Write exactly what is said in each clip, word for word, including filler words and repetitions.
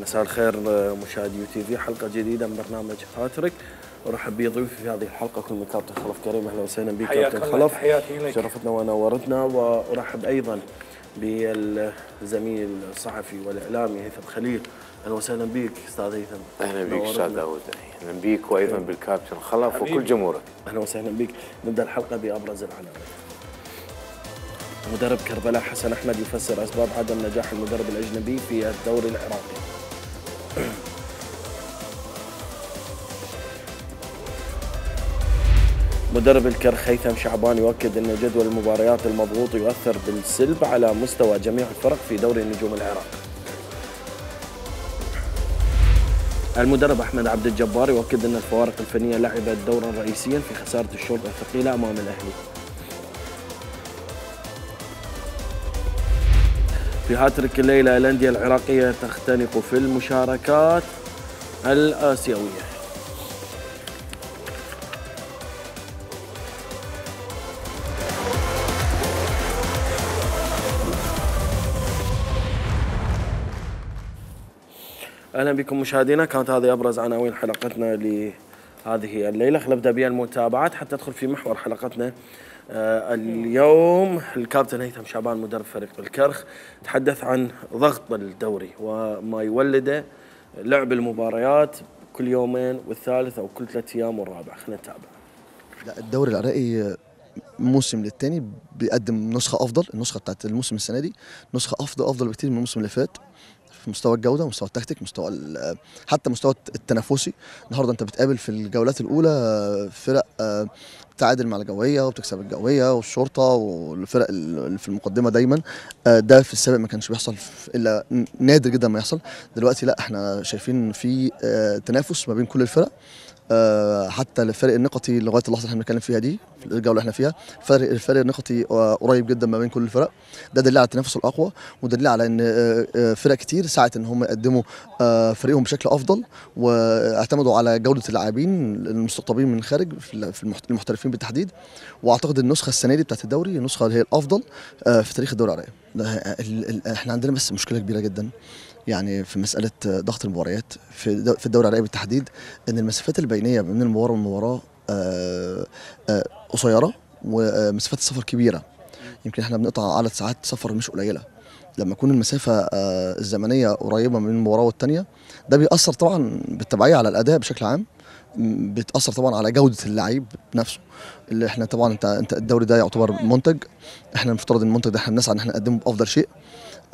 مساء الخير مشاهدي يو تي في، حلقة جديدة من برنامج هاتريك. ورحب بضيوفي في هذه الحلقة كل من كابتن خلف كريم. اهلا وسهلا بك كابتن خلف، حياتي لك، شرفتنا ونورتنا. وارحب ايضا بالزميل الصحفي والاعلامي هيثم خليل. اهلا وسهلا بك استاذ هيثم. اهلا بك استاذ داوود، اهلا بك وايضا بالكابتن خلف وكل جمهورك. اهلا وسهلا بك. نبدا الحلقة بابرز العناوين. مدرب كربلاء حسن احمد يفسر اسباب عدم نجاح المدرب الاجنبي في الدوري العراقي. مدرب الكرخ هيثم شعبان يؤكد ان جدول المباريات المضغوط يؤثر بالسلب على مستوى جميع الفرق في دوري النجوم العراق. المدرب احمد عبد الجبار يؤكد ان الفوارق الفنيه لعبت دورا رئيسيا في خساره الشرطه الثقيله امام الاهلي. في هاتريك الليله الانديه العراقيه تختنق في المشاركات الاسيويه. اهلا بكم مشاهدينا. كانت هذه ابرز عناوين حلقتنا لهذه الليله. خلينا نبدا بالمتابعات حتى ندخل في محور حلقتنا. آه اليوم الكابتن هيثم شعبان مدرب فريق الكرخ تحدث عن ضغط الدوري وما يولده لعب المباريات كل يومين والثالث او كل ثلاث ايام والرابع. خلينا نتابع. لا، الدوري العراقي موسم للتاني بيقدم نسخه افضل. النسخه بتاعت الموسم السنه دي نسخه افضل افضل بكتير من الموسم اللي فات في مستوى الجوده، مستوى التكتيك، مستوى حتى مستوى التنافسي. النهارده انت بتقابل في الجولات الاولى فرق بتعادل مع الجويه وبتكسب الجويه والشرطه والفرق اللي في المقدمه دايما. ده في السابق ما كانش بيحصل الا نادر جدا ما يحصل. دلوقتي لا، احنا شايفين في تنافس ما بين كل الفرق. أه حتى الفرق النقطي لغايه اللحظه اللي احنا بنتكلم فيها دي في الجوله اللي احنا فيها فرق الفرق النقطي قريب جدا ما بين كل الفرق. ده دليل على التنافس الاقوى ودليل على ان فرق كتير سعت ان هم يقدموا فريقهم بشكل افضل واعتمدوا على جوده اللاعبين المستقطبين من الخارج في المحترفين بالتحديد. واعتقد النسخه السنه دي بتاعت الدوري النسخه اللي هي الافضل في تاريخ الدوري العراقي. احنا عندنا بس مشكله كبيره جدا يعني في مساله ضغط المباريات في في الدوري العراقي بالتحديد، ان المسافات البينيه بين المباراه والمباراه قصيره ومسافات السفر كبيره. يمكن احنا بنقطع عدد ساعات سفر مش قليله. لما تكون المسافه الزمنيه قريبه من المباراه والثانيه ده بيأثر طبعا بالتبعيه على الاداء بشكل عام، بتأثر طبعا على جوده اللعيب نفسه. اللي احنا طبعا انت انت الدوري ده يعتبر منتج، احنا المفترض ان المنتج ده احنا بنسعى ان احنا نقدمه بافضل شيء.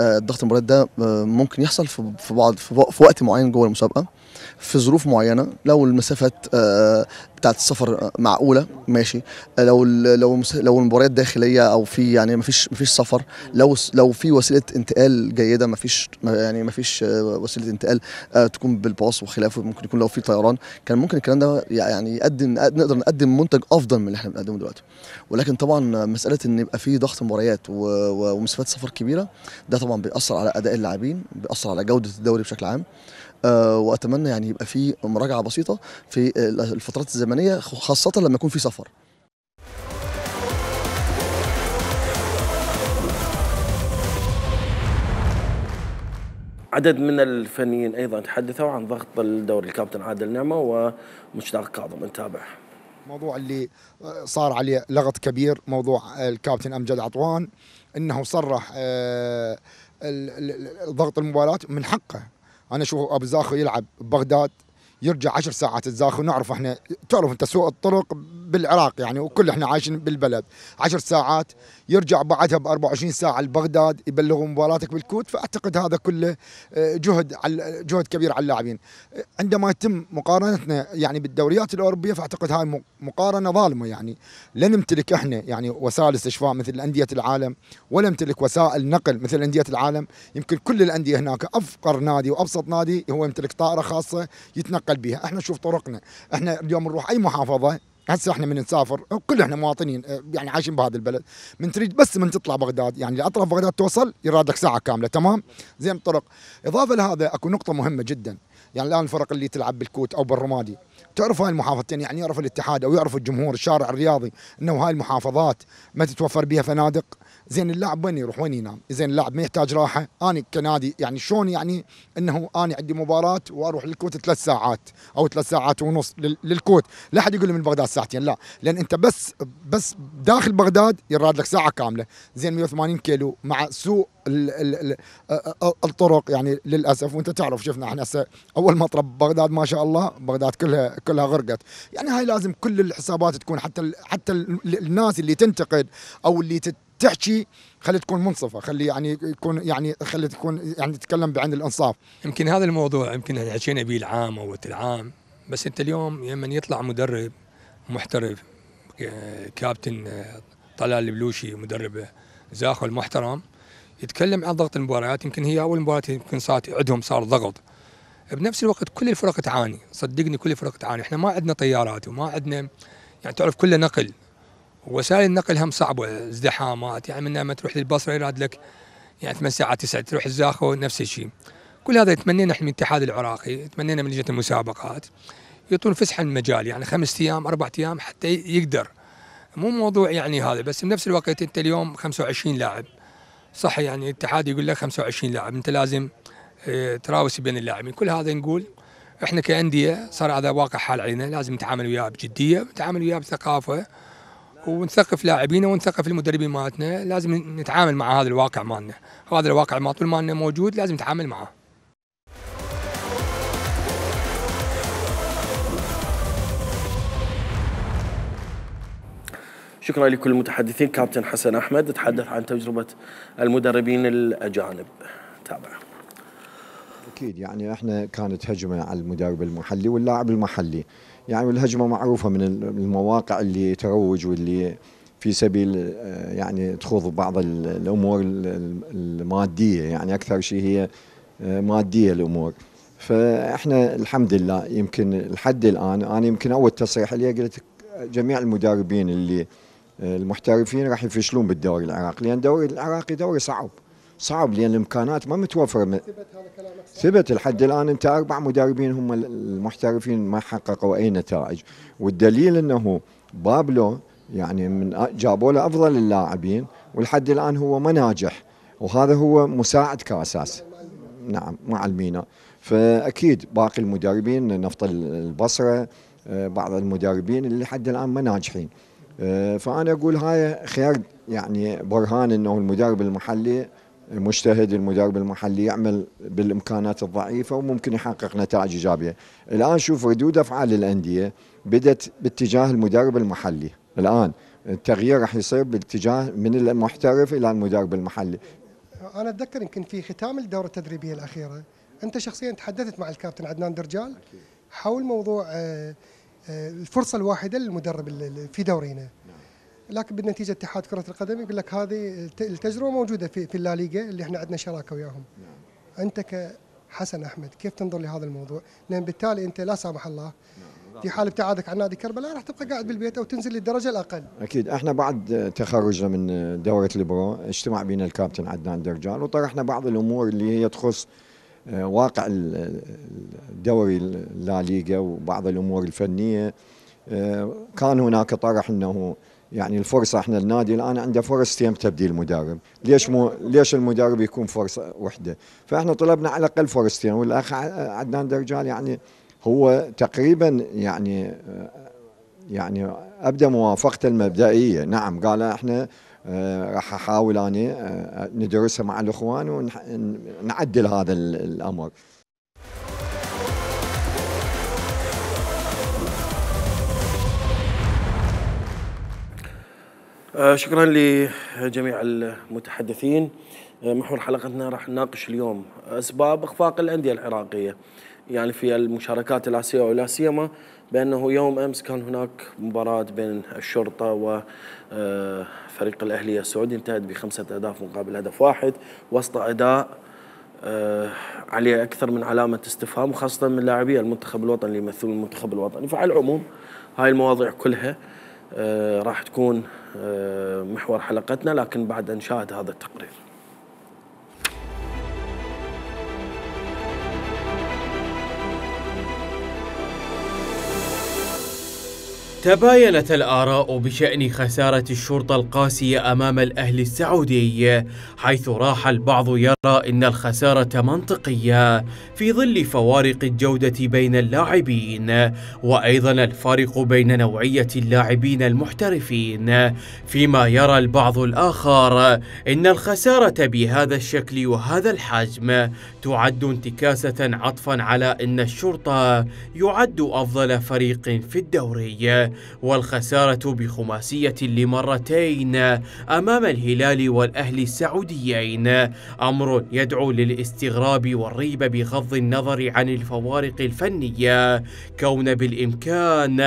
الضغط المباريات ده ممكن يحصل في بعض في وقت معين جوه المسابقه في ظروف معينه. لو المسافات بتاعت السفر معقوله ماشي، لو لو لو المباريات داخليه او في يعني ما فيش ما فيش سفر، لو لو في وسيله انتقال جيده ما فيش يعني ما فيش وسيله انتقال تكون بالباص وخلافه، ممكن يكون لو في طيران كان ممكن الكلام ده يعني يقدم نقدر نقدم منتج افضل من اللي احنا بنقدمه دلوقتي. ولكن طبعا مساله ان يبقى في ضغط مباريات ومسافات سفر كبيره ده طبعا بيأثر على اداء اللاعبين، بيأثر على جوده الدوري بشكل عام. أه واتمنى يعني يبقى في مراجعه بسيطه في الفترات الزمنيه خاصه لما يكون في سفر. عدد من الفنيين ايضا تحدثوا عن ضغط الدوري. الكابتن عادل نعمه ومشتاق كاظم. نتابع. موضوع اللي صار عليه لغط كبير موضوع الكابتن امجد عطوان، انه صرح أه ضغط المباراة من حقه. انا اشوف ابو زاخو يلعب ببغداد يرجع عشر ساعات الزاخو، نعرف احنا تعرف انت سوق الطرق بالعراق يعني وكل احنا عايشين بالبلد، عشر ساعات يرجع بعدها ب أربعة وعشرين ساعه لبغداد يبلغوا مباراتك بالكوت. فاعتقد هذا كله جهد على جهد كبير على اللاعبين. عندما يتم مقارنتنا يعني بالدوريات الاوروبيه فاعتقد هاي مقارنه ظالمه. يعني لا نمتلك احنا يعني وسائل استشفاء مثل انديه العالم، ولا نمتلك وسائل نقل مثل انديه العالم. يمكن كل الانديه هناك افقر نادي وابسط نادي هو يمتلك طائره خاصه يتنقل بها. احنا نشوف طرقنا، احنا اليوم نروح اي محافظه، هسه احنا من نسافر كل احنا مواطنين يعني عايشين بهذا البلد، من تريد بس من تطلع بغداد يعني لاطراف بغداد توصل يرادك ساعه كامله تمام زين الطرق. اضافه لهذا اكو نقطه مهمه جدا، يعني الان الفرق اللي تلعب بالكوت او بالرمادي تعرف هاي المحافظتين، يعني يعرف الاتحاد او يعرف الجمهور الشارع الرياضي انه هاي المحافظات ما تتوفر بها فنادق. زين اللاعب وين يروح وين ينام؟ زين اللاعب ما يحتاج راحه. انا كنادي يعني شلون يعني انه انا عندي مباراه واروح للكوت ثلاث ساعات او ثلاث ساعات ونص للكوت، لا احد يقول لي من بغداد ساعتين، لا، لان انت بس بس داخل بغداد يراد لك ساعه كامله. زين مئة وثمانين كيلو مع سوء ال ال ال الطرق يعني للاسف، وانت تعرف شفنا احنا هسه اول مطرب بغداد ما شاء الله بغداد كلها كلها غرقت. يعني هاي لازم كل الحسابات تكون، حتى حتى الناس اللي تنتقد او اللي تحكي خلي تكون منصفه، خلي يعني يكون يعني خلي تكون يعني تتكلم بعين الانصاف. يمكن هذا الموضوع يمكن حكينا به العام او العام، بس انت اليوم لما يطلع مدرب محترف كابتن طلال البلوشي مدرب زاخو المحترم يتكلم عن ضغط المباريات، يمكن هي اول مباراه يمكن صارت عندهم صار ضغط. بنفس الوقت كل الفرق تعاني، صدقني كل الفرق تعاني، احنا ما عندنا طيارات وما عندنا يعني تعرف كله نقل، وسائل النقل هم صعبه، ازدحامات، يعني من لما تروح للبصره يراد لك يعني ثمان ساعات تسعة، تروح الزاخو نفس الشيء. كل هذا يتمنينا احنا من الاتحاد العراقي، يتمنينا من لجنه المسابقات يعطون فسحه المجال، يعني خمس ايام اربع ايام حتى يقدر، مو موضوع يعني هذا. بس بنفس الوقت انت اليوم خمسة وعشرين لاعب صح، يعني الاتحاد يقول لك خمسة وعشرين لاعب، انت لازم اه تراوس بين اللاعبين. كل هذا نقول احنا كانديه صار هذا واقع حال علينا، لازم نتعامل وياه بجديه، نتعامل وياه بثقافه، ونثقف لاعبينا ونثقف المدربين مالتنا. لازم نتعامل مع هذا الواقع مالنا، هذا الواقع ما طول مالنا موجود لازم نتعامل معه. شكرا لكل المتحدثين. كابتن حسن أحمد تحدث عن تجربة المدربين الأجانب، تابع. أكيد يعني احنا كانت هجمة على المدرب المحلي واللاعب المحلي، يعني والهجمة معروفة من المواقع اللي تروج واللي في سبيل يعني تخوض بعض الأمور المادية، يعني أكثر شيء هي مادية الأمور. فاحنا الحمد لله يمكن لحد الآن أنا يمكن أول تصريح لي قلت جميع المدربين اللي المحترفين راح يفشلون بالدوري العراقي، لأن الدوري العراقي دوري صعب صعب لأن الإمكانات ما متوفرة. ثبت لحد الآن أنت أربع مدربين هم المحترفين ما حققوا أي نتائج، والدليل أنه بابلو يعني من جابوا له أفضل اللاعبين ولحد الآن هو ما ناجح، وهذا هو مساعد كأساس نعم مع المينا. فأكيد باقي المدربين نفط البصرة بعض المدربين اللي لحد الآن ما ناجحين. فأنا أقول هاي خير يعني برهان أنه المدرب المحلي مجتهد، المدرب المحلي يعمل بالإمكانات الضعيفة وممكن يحقق نتائج إيجابية. الآن شوف ردود أفعال الأندية بدت باتجاه المدرب المحلي، الآن التغيير راح يصير باتجاه من المحترف إلى المدرب المحلي. أنا أتذكر يمكن في ختام الدورة التدريبية الأخيرة أنت شخصيا تحدثت مع الكابتن عدنان درجال حول موضوع الفرصة الواحدة للمدرب في دورينا، لكن بالنتيجة اتحاد كرة القدم يقول لك هذه التجربة موجودة في في الليغا اللي احنا عندنا شراكة وياهم. أنت كحسن أحمد كيف تنظر لهذا الموضوع؟ لأن بالتالي أنت لا سامح الله في حال ابتعادك عن نادي كربلاء راح تبقى قاعد بالبيت أو تنزل للدرجة الأقل. أكيد احنا بعد تخرجنا من دورة البرو اجتمع بينا الكابتن عدنان درجال وطرحنا بعض الأمور اللي هي تخص واقع الدوري الليغا وبعض الأمور الفنية. كان هناك طرح أنه يعني الفرصة احنا النادي الآن عنده فرصتين تبديل مدرب، ليش مو ليش المدرب يكون فرصة واحدة؟ فاحنا طلبنا على الأقل فرصتين، والأخ عدنان درجال يعني هو تقريبا يعني يعني أبدأ موافقته المبدئية، نعم قال احنا راح أحاول أنا ندرسها مع الإخوان ونعدل هذا الأمر. شكرا لجميع المتحدثين. محور حلقتنا راح نناقش اليوم أسباب إخفاق الأندية العراقية يعني في المشاركات الآسيوية، ولا سيما بأنه يوم أمس كان هناك مباراة بين الشرطة وفريق الأهلية السعودي انتهت بخمسة أهداف مقابل هدف واحد وسط أداء عليه أكثر من علامة استفهام، وخاصة من لاعبي المنتخب الوطني اللي يمثلون المنتخب الوطني. فعلى العموم هاي المواضيع كلها راح تكون محور حلقتنا، لكن بعد أن نشاهد هذا التقرير. تباينت الآراء بشأن خسارة الشرطة القاسية أمام الأهلي السعودي، حيث راح البعض يرى أن الخسارة منطقية في ظل فوارق الجودة بين اللاعبين، وأيضا الفارق بين نوعية اللاعبين المحترفين، فيما يرى البعض الآخر أن الخسارة بهذا الشكل وهذا الحجم تعد انتكاسة عطفا على أن الشرطة يعد أفضل فريق في الدوري، والخسارة بخماسية لمرتين أمام الهلال والأهلي السعوديين أمر يدعو للاستغراب والريب بغض النظر عن الفوارق الفنية، كون بالإمكان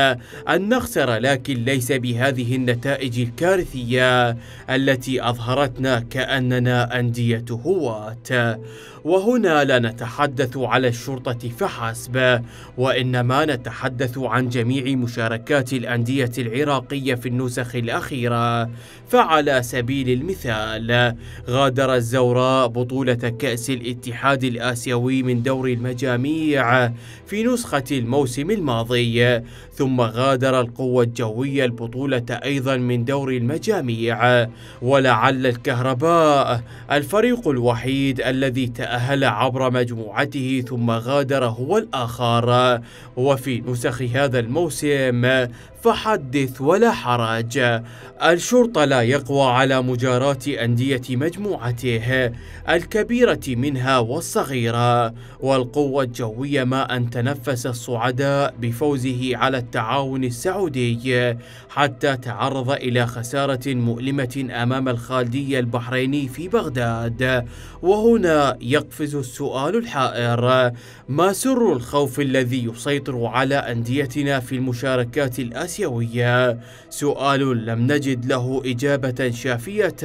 أن نخسر لكن ليس بهذه النتائج الكارثية التي أظهرتنا كأننا أندية هواة. وهنا لا نتحدث على الشرطة فحسب، وإنما نتحدث عن جميع مشاركات الأندية العراقية في النسخ الأخيرة. فعلى سبيل المثال غادر الزوراء بطولة كأس الاتحاد الآسيوي من دور المجاميع في نسخة الموسم الماضي، ثم غادر القوة الجوية البطولة أيضا من دور المجاميع، ولعل الكهرباء الفريق الوحيد الذي تأهل عبر مجموعته ثم غادر هو الآخر. وفي نسخ هذا الموسم فحدث ولا حرج، الشرطة لا يقوى على مجاراة أندية مجموعته الكبيرة منها والصغيرة، والقوة الجوية ما أن تنفس الصعداء بفوزه على التعاون السعودي حتى تعرض إلى خسارة مؤلمة أمام الخالدية البحريني في بغداد. وهنا يقفز السؤال الحائر: ما سر الخوف الذي يسيطر على أنديتنا في المشاركات الآسيوية؟ سؤال لم نجد له إجابة شافية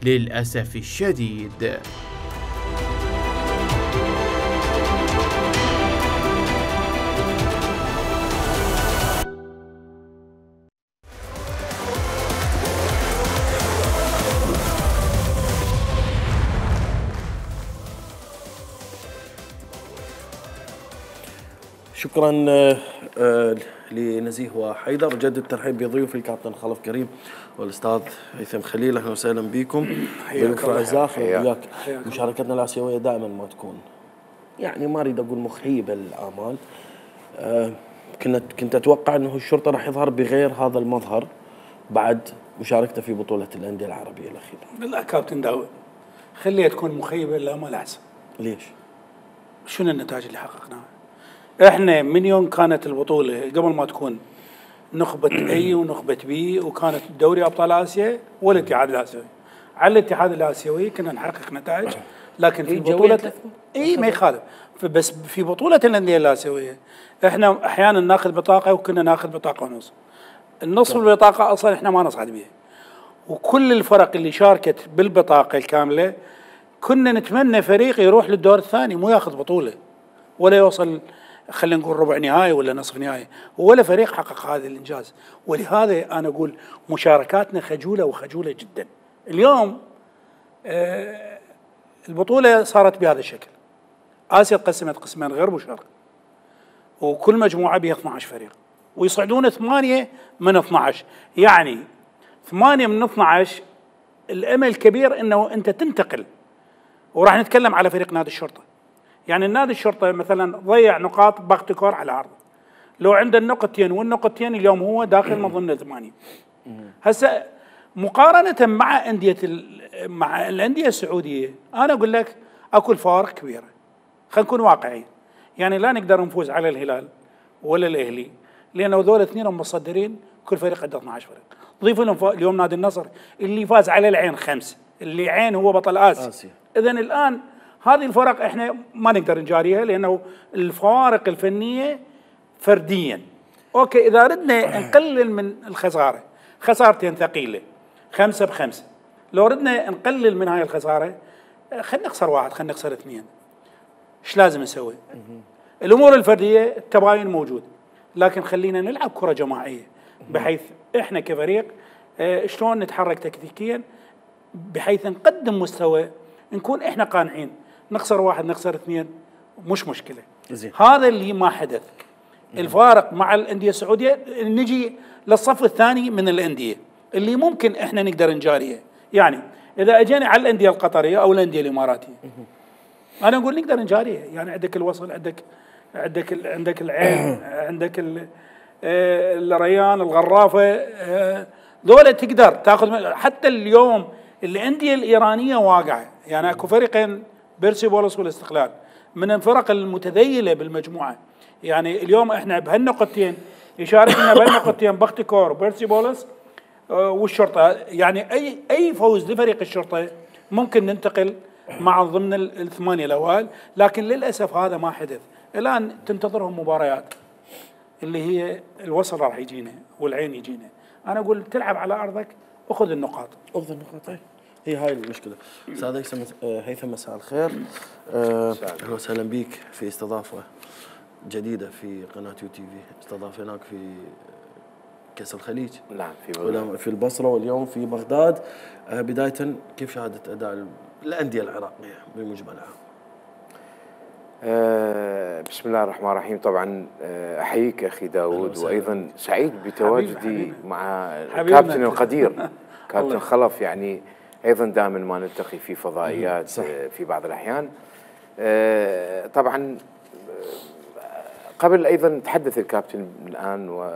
للأسف الشديد. شكرا لنزيه وحيدر. جد الترحيب بضيوفي الكابتن خلف كريم والاستاذ هيثم خليل، اهلا وسهلا بكم. ضيوف اعزاء وياك. مشاركتنا الاسيويه دائما ما تكون يعني ما اريد اقول مخيبه للامال. أه كنت كنت اتوقع انه الشرطه راح يظهر بغير هذا المظهر بعد مشاركته في بطوله الانديه العربيه الاخيره. لا كابتن داود، خليها تكون مخيبه للامال احسن. ليش؟ شنو النتائج اللي حققناها؟ احنا من يوم كانت البطوله قبل ما تكون نخبه اي ونخبه بي، وكانت دوري ابطال اسيا والاتحاد الاسيوي، على الاتحاد الاسيوي كنا نحقق نتائج، لكن في بطوله اي ما يخالف، بس في بطوله الانديه الاسيويه احنا احيانا ناخذ بطاقه وكنا ناخذ بطاقه ونص. النصف البطاقه اصلا احنا ما نصعد بها، وكل الفرق اللي شاركت بالبطاقه الكامله كنا نتمنى فريق يروح للدور الثاني مو ياخذ بطوله ولا يوصل خلينا نقول ربع نهائي ولا نصف نهائي، ولا فريق حقق هذا الانجاز. ولهذا انا اقول مشاركاتنا خجوله وخجوله جدا. اليوم آه البطوله صارت بهذا الشكل، اسيا تقسمت قسمين غير مشارك، وكل مجموعه بها اثني عشر فريق، ويصعدون ثمانيه من اثني عشر، يعني ثمانيه من اثني عشر الامل كبير انه انت تنتقل. وراح نتكلم على فريق نادي الشرطه. يعني النادي الشرطه مثلا ضيع نقاط باختكور على عرضه، لو عنده النقطتين والنقطتين اليوم هو داخل من ضمن الثمانيه. هسه مقارنه مع انديه مع الانديه السعوديه انا اقول لك اكو فوارق كبيره. خلينا نكون واقعيين، يعني لا نقدر نفوز على الهلال ولا الاهلي لانه هذول اثنين مصدرين، كل فريق عنده اثني عشر فريق. ضيف لهم اليوم نادي النصر اللي فاز على العين خمسه، اللي عين هو بطل اسيا, آسيا. اذا الان هذه الفرق احنا ما نقدر نجاريها لانه الفوارق الفنيه فرديا. اوكي اذا ردنا نقلل من الخساره، خسارتين ثقيله خمسه بخمسه، لو ردنا نقلل من هاي الخساره خلينا نخسر واحد خلينا نخسر اثنين، ايش لازم نسوي؟ الامور الفرديه التباين موجود، لكن خلينا نلعب كره جماعيه بحيث احنا كفريق شلون نتحرك تكتيكيا بحيث نقدم مستوى نكون احنا قانعين. نخسر واحد نخسر اثنين مش مشكله. زين. هذا اللي ما حدث. الفارق مع الانديه السعوديه نجي للصف الثاني من الانديه اللي ممكن احنا نقدر نجاريها. يعني اذا اجينا على الانديه القطريه او الانديه الاماراتيه انا اقول نقدر نجاريها. يعني عندك الوصل، عندك عندك ال عندك العين، عندك ال الريان، الغرافه، ذولا تقدر تاخذ. حتى اليوم الانديه الايرانيه واقعه، يعني اكو فريقين بيرسيبوليس والاستقلال من الفرق المتذيله بالمجموعه. يعني اليوم احنا بهالنقطتين يشارك لنا بهالنقطتين بختكور وبيرسيبوليس والشرطه. يعني اي اي فوز لفريق الشرطه ممكن ننتقل مع ضمن الثمانيه الاوائل، لكن للاسف هذا ما حدث. الان تنتظرهم مباريات اللي هي الوصل راح يجينا والعين يجينا. انا اقول تلعب على ارضك وخذ النقاط. خذ النقاط، هي هاي المشكله. استاذ هيثم هيثم مساء الخير، اهلا وسهلا بك في استضافه جديده في قناه يو تي في. استضافناك في كاس الخليج، نعم، في في البصره واليوم في بغداد. بدايه كيف شاهدت اداء الانديه العراقيه بمجملها؟ أه بسم الله الرحمن الرحيم. طبعا احييك اخي داود، وايضا سعيد بتواجدي حبيب حبيب. مع الكابتن القدير كابتن خلف. يعني ايضا دائما ما نلتقي في فضائيات صح. في بعض الاحيان. أه طبعا قبل ايضا تحدث الكابتن الان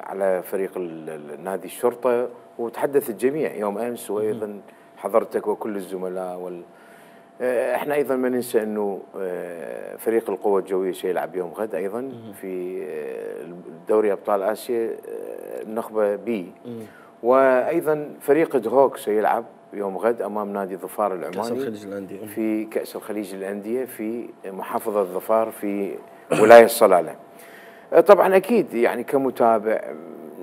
على فريق النادي الشرطه، وتحدث الجميع يوم امس، وايضا حضرتك وكل الزملاء وال احنا ايضا ما ننسى انه فريق القوى الجويه سيلعب يوم غد ايضا في دوري ابطال اسيا النخبه بي، وايضا فريق دهوك سيلعب يوم غد امام نادي ظفار العماني كأس الخليج للانديه في كأس الخليج للانديه في محافظه ظفار في ولايه صلاله. طبعا اكيد يعني كمتابع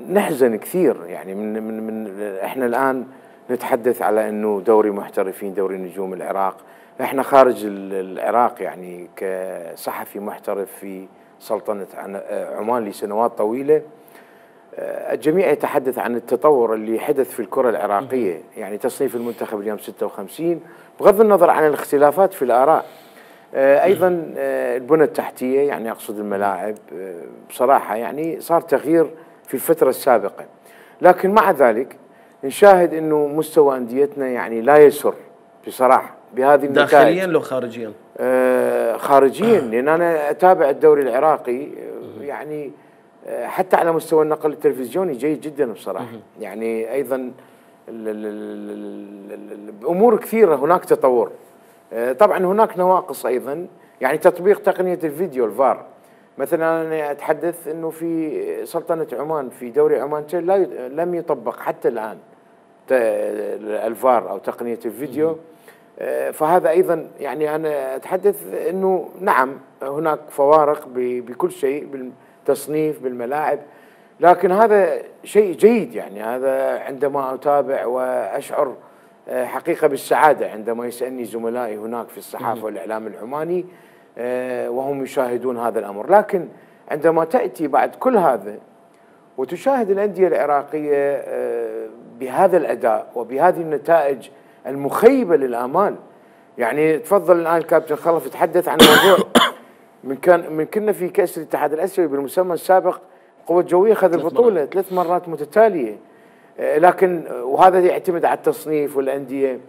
نحزن كثير، يعني من من من احنا الان نتحدث على انه دوري محترفين، دوري نجوم العراق. احنا خارج العراق يعني كصحفي محترف في سلطنة عمان لسنوات طويلة، الجميع يتحدث عن التطور اللي حدث في الكرة العراقية. يعني تصنيف المنتخب اليوم ستة وخمسين بغض النظر عن الاختلافات في الآراء. ايضا البنى التحتية، يعني اقصد الملاعب، بصراحة يعني صار تغيير في الفترة السابقة، لكن مع ذلك نشاهد انه مستوى انديتنا يعني لا يسر بصراحه بهذه النتائج. داخليا لو خارجيا؟ آه خارجيا، لان انا اتابع الدوري العراقي يعني آه حتى على مستوى النقل التلفزيوني جيد جدا بصراحه. يعني ايضا بامور كثيره هناك تطور. آه طبعا هناك نواقص ايضا، يعني تطبيق تقنيه الفيديو الفار. مثلا انا اتحدث انه في سلطنه عمان في دوري عمان لا لم يطبق حتى الان الفار او تقنيه الفيديو. فهذا ايضا يعني انا اتحدث انه نعم هناك فوارق بكل شيء، بالتصنيف، بالملاعب، لكن هذا شيء جيد. يعني هذا عندما اتابع واشعر حقيقه بالسعاده عندما يسالني زملائي هناك في الصحافه والاعلام العماني وهم يشاهدون هذا الأمر. لكن عندما تأتي بعد كل هذا وتشاهد الأندية العراقية بهذا الأداء وبهذه النتائج المخيبة للآمال، يعني تفضل الآن الكابتن خلف يتحدث عن موضوع من كان من كنا في كأس الاتحاد الآسيوي بالمسمى السابق القوى الجوية أخذ البطولة ثلاث مرات متتالية، لكن وهذا يعتمد على التصنيف والأندية.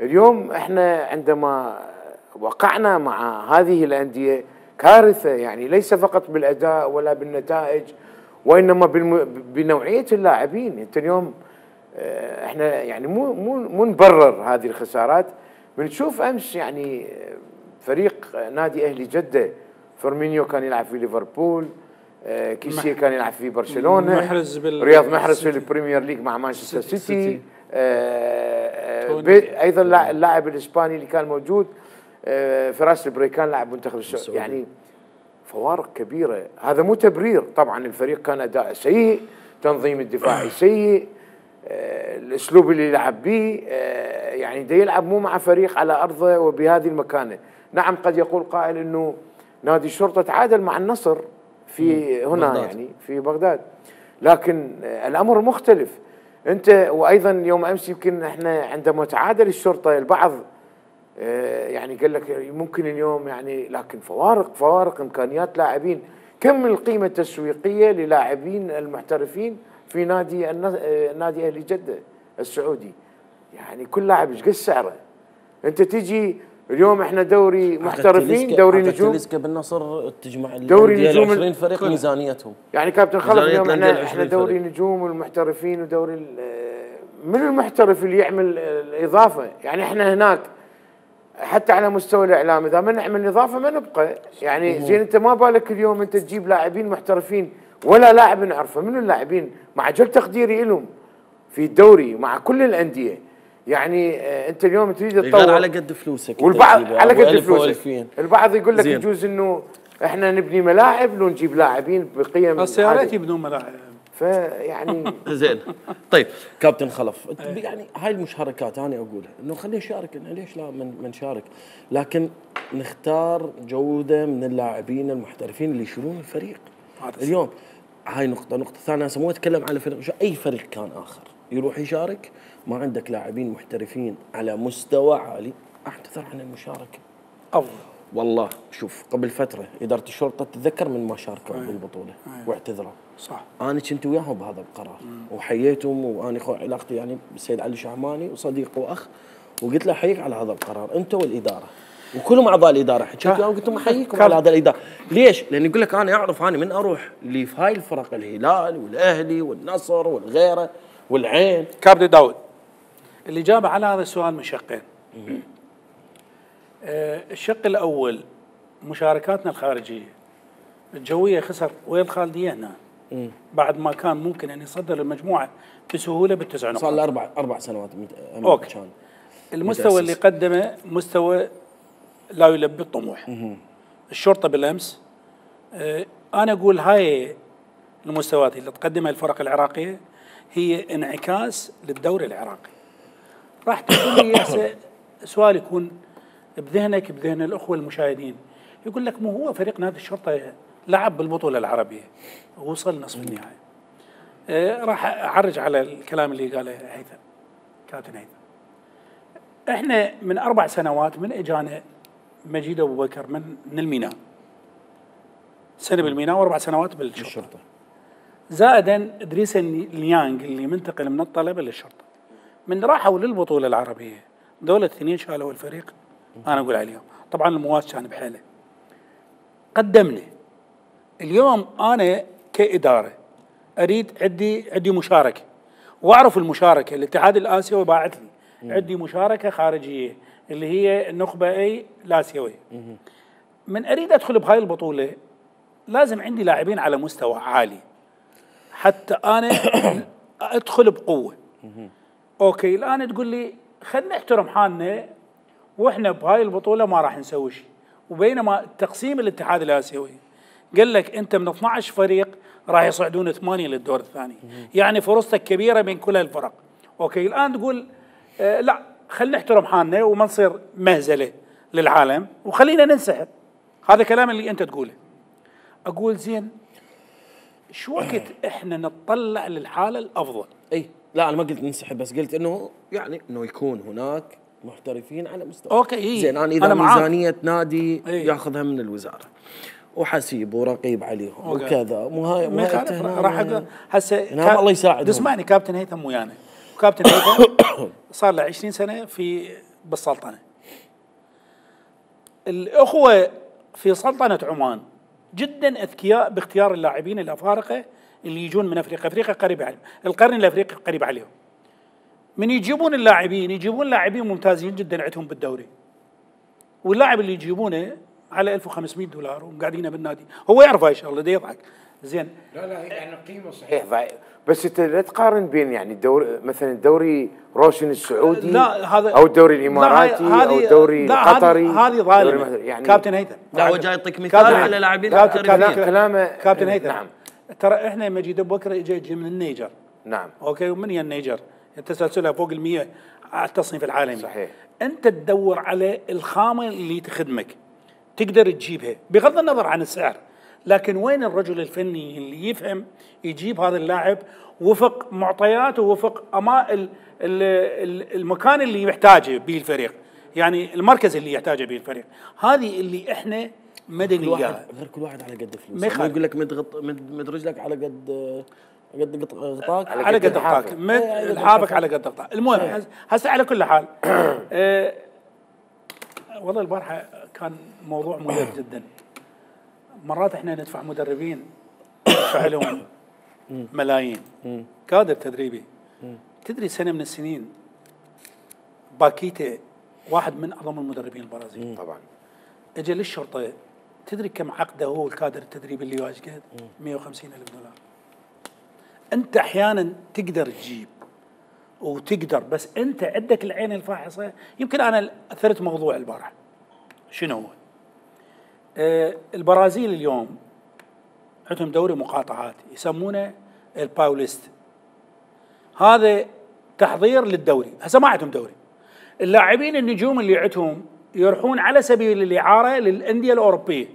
اليوم احنا عندما وقعنا مع هذه الأندية كارثة، يعني ليس فقط بالأداء ولا بالنتائج، وإنما بنوعية اللاعبين. أنت اليوم احنا يعني مو مو مو نبرر هذه الخسارات. بنشوف أمس يعني فريق نادي أهلي جدة، فيرمينيو كان يلعب في ليفربول، كيسيه كان يلعب في برشلونة، محرز رياض محرز في البريمير ليج مع مانشستر سيتي, سيتي. أيضا اللاعب الإسباني اللي كان موجود فراس البريكان لاعب منتخب السعودية. يعني فوارق كبيرة. هذا مو تبرير، طبعا الفريق كان أداء سيء، تنظيم الدفاعي سيء، الأسلوب اللي يلعب به، يعني دا يلعب مو مع فريق على أرضه وبهذه المكانة. نعم قد يقول قائل أنه نادي الشرطة تعادل مع النصر في هنا بغداد. يعني في بغداد، لكن الأمر مختلف. أنت وأيضا يوم أمس يمكن احنا عندما تعادل الشرطة البعض يعني قال لك ممكن اليوم يعني، لكن فوارق فوارق إمكانيات لاعبين. كم القيمه التسويقيه للاعبين المحترفين في نادي نادي اهلي جده السعودي؟ يعني كل لاعب ايش قد سعره؟ انت تجي اليوم احنا دوري محترفين، دوري نجوم. تلسكا بالنصر تجمع دوري نجوم عشرين فريق ميزانيتهم. يعني كابتن خلف اليوم احنا احنا دوري نجوم والمحترفين ودوري من المحترف اللي يعمل الاضافه؟ يعني احنا هناك حتى على مستوى الاعلام اذا ما نعمل اضافه ما نبقى، يعني زين انت ما بالك اليوم انت تجيب لاعبين محترفين ولا لاعب نعرفه، من اللاعبين مع جل تقديري لهم في الدوري مع كل الانديه. يعني انت اليوم تريد تطور على قد فلوسك، والبعض على قد فلوسك. البعض يقول لك يجوز انه احنا نبني ملاعب لو نجيب لاعبين بقيم، بس يا ريت يبنون ملاعب. فيعني زين. طيب كابتن خلف، يعني هاي المشاركات انا اقولها انه خلينا نشارك، ليش لا ما نشارك، لكن نختار جوده من اللاعبين المحترفين اللي يشيلون الفريق. اليوم هاي نقطه. نقطه ثانيه مو اتكلم على فريق، اي فريق كان اخر يروح يشارك ما عندك لاعبين محترفين على مستوى عالي، اعتذر عن المشاركه افضل. والله شوف قبل فتره اداره الشرطه تتذكر من ما شاركوا بالبطوله واعتذروا. صح. انا كنت وياهم بهذا القرار وحييتهم، وانا اخو علاقتي يعني بالسيد علي شعماني وصديق واخ، وقلت له احييك على هذا القرار انت والاداره وكلهم اعضاء الاداره. حكيت وياهم قلت لهم احييكم على هذا الاداره. ليش؟ لان يقول لك انا اعرف انا من اروح اللي في هاي الفرق الهلال والاهلي والنصر والغيره والعين. كابتن داود، الاجابه على هذا السؤال من شقين. آه الشق الاول مشاركاتنا الخارجيه الجويه خسر ويا الخالديه هنا مم. بعد ما كان ممكن ان يصدر المجموعه بسهوله بالتسع نقاط. صار له اربع اربع سنوات اوكي. كان المستوى متأسس. اللي قدمه مستوى لا يلبي الطموح. مم. الشرطه بالامس آه انا اقول هاي المستويات اللي تقدمها الفرق العراقيه هي انعكاس للدوري العراقي. راح تقول لي هسه سؤال يكون بذهنك بذهن الاخوه المشاهدين، يقول لك مو هو فريق نادي الشرطه لعب بالبطوله العربيه ووصل نصف النهائي. آه راح اعرج على الكلام اللي قاله هيثم كابتن هيثم. احنا من اربع سنوات من اجانا مجيد ابو بكر من من الميناء، سنه بالميناء واربع سنوات بالشرطه، زائدا ادريس اليانغ اللي منتقل من الطلبه للشرطه. من راحوا للبطوله العربيه دول الاثنين شالوا الفريق انا اقول عليهم، طبعا المواس كان بحاله. قدمنا اليوم انا كاداره اريد عندي عندي مشاركه واعرف المشاركه، الاتحاد الاسيوي باعث لي عندي مشاركه خارجيه اللي هي النخبه اي الاسيويه. من اريد ادخل بهاي البطوله لازم عندي لاعبين على مستوى عالي حتى انا ادخل بقوه. اوكي الان تقول لي خلينا نحترم حالنا واحنا بهاي البطوله ما راح نسوي شيء، وبينما تقسيم الاتحاد الاسيوي قال لك انت من اثنعش فريق راح يصعدون ثمانيه للدور الثاني، يعني فرصتك كبيره بين كل الفرق. اوكي الان تقول آه لا خلينا نحترم حالنا وما نصير مهزله للعالم وخلينا ننسحب. هذا كلام اللي انت تقوله. اقول زين شو وقت احنا نتطلع للحاله الافضل؟ اي لا انا ما قلت ننسحب، بس قلت انه يعني انه يكون هناك محترفين على مستوى. اوكي إيه. زين انا اذا أنا ميزانيه نادي إيه؟ ياخذها من الوزاره وحسيب ورقيب عليهم أوكي. وكذا مو هاي مو راح هسه كا... الله يساعدهم. اسمعني كابتن هيثم ويانا، كابتن هيثم صار له عشرين سنه في بالسلطنه. الاخوه في سلطنه عمان جدا اذكياء باختيار اللاعبين الافارقه اللي يجون من افريقيا، افريقيا قريبه عليهم، القرن الافريقي قريب عليهم. من يجيبون اللاعبين يجيبون لاعبين ممتازين جدا عندهم بالدوري. واللاعب اللي يجيبونه على ألف وخمسمئة دولار وقاعدين بالنادي، هو يعرف هاي الشغله ده يضحك. زين لا لا يعني قيمه صحيح ضعيف، بس انت لا تقارن بين يعني الدوري مثلا الدوري روشن السعودي لا هذا او الدوري الاماراتي او الدوري القطري. هذه ظالمه يعني كابتن هيثم. لا هو جاي يعطيك مثال على لاعبين كلامه كابتن هيثم. نعم ترى احنا مجيد ابو بكر جاي من النيجر. نعم اوكي ومن هي النيجر؟ تسلسلها فوق المئة على التصنيف العالمي. صحيح. انت تدور على الخامه اللي تخدمك تقدر تجيبها بغض النظر عن السعر، لكن وين الرجل الفني اللي يفهم يجيب هذا اللاعب وفق معطياته وفق أما ال ال المكان اللي يحتاجه به الفريق، يعني المركز اللي يحتاجه به الفريق. هذه اللي احنا مدني كل واحد قال غير كل واحد على قد فلوسه. ما يخالف. يقول لك مد غط مد, مد رجلك على قد قد غط- غطاك على على قد قد لحافك. غطاك مد لحافك على قد غطاك. المهم هس- هسه على كل حال آه والله البارحه كان موضوع مريح جدا. مرات احنا ندفع مدربين ندفع لهم ملايين كادر تدريبي. تدري سنه من السنين باكيتا واحد من اعظم المدربين البرازيل طبعا اجى للشرطه. تدري كم عقده هو الكادر التدريبي اللي واجهه؟ مئة وخمسين ألف دولار. انت احيانا تقدر تجيب وتقدر، بس انت عندك العين الفاحصه. يمكن انا اثرت موضوع البارحه شنو هو؟ آه البرازيل اليوم عندهم دوري مقاطعات يسمونه الباوليست. هذا تحضير للدوري. هسه ما عندهم دوري. اللاعبين النجوم اللي عندهم يروحون على سبيل الاعاره للانديه الاوروبيه.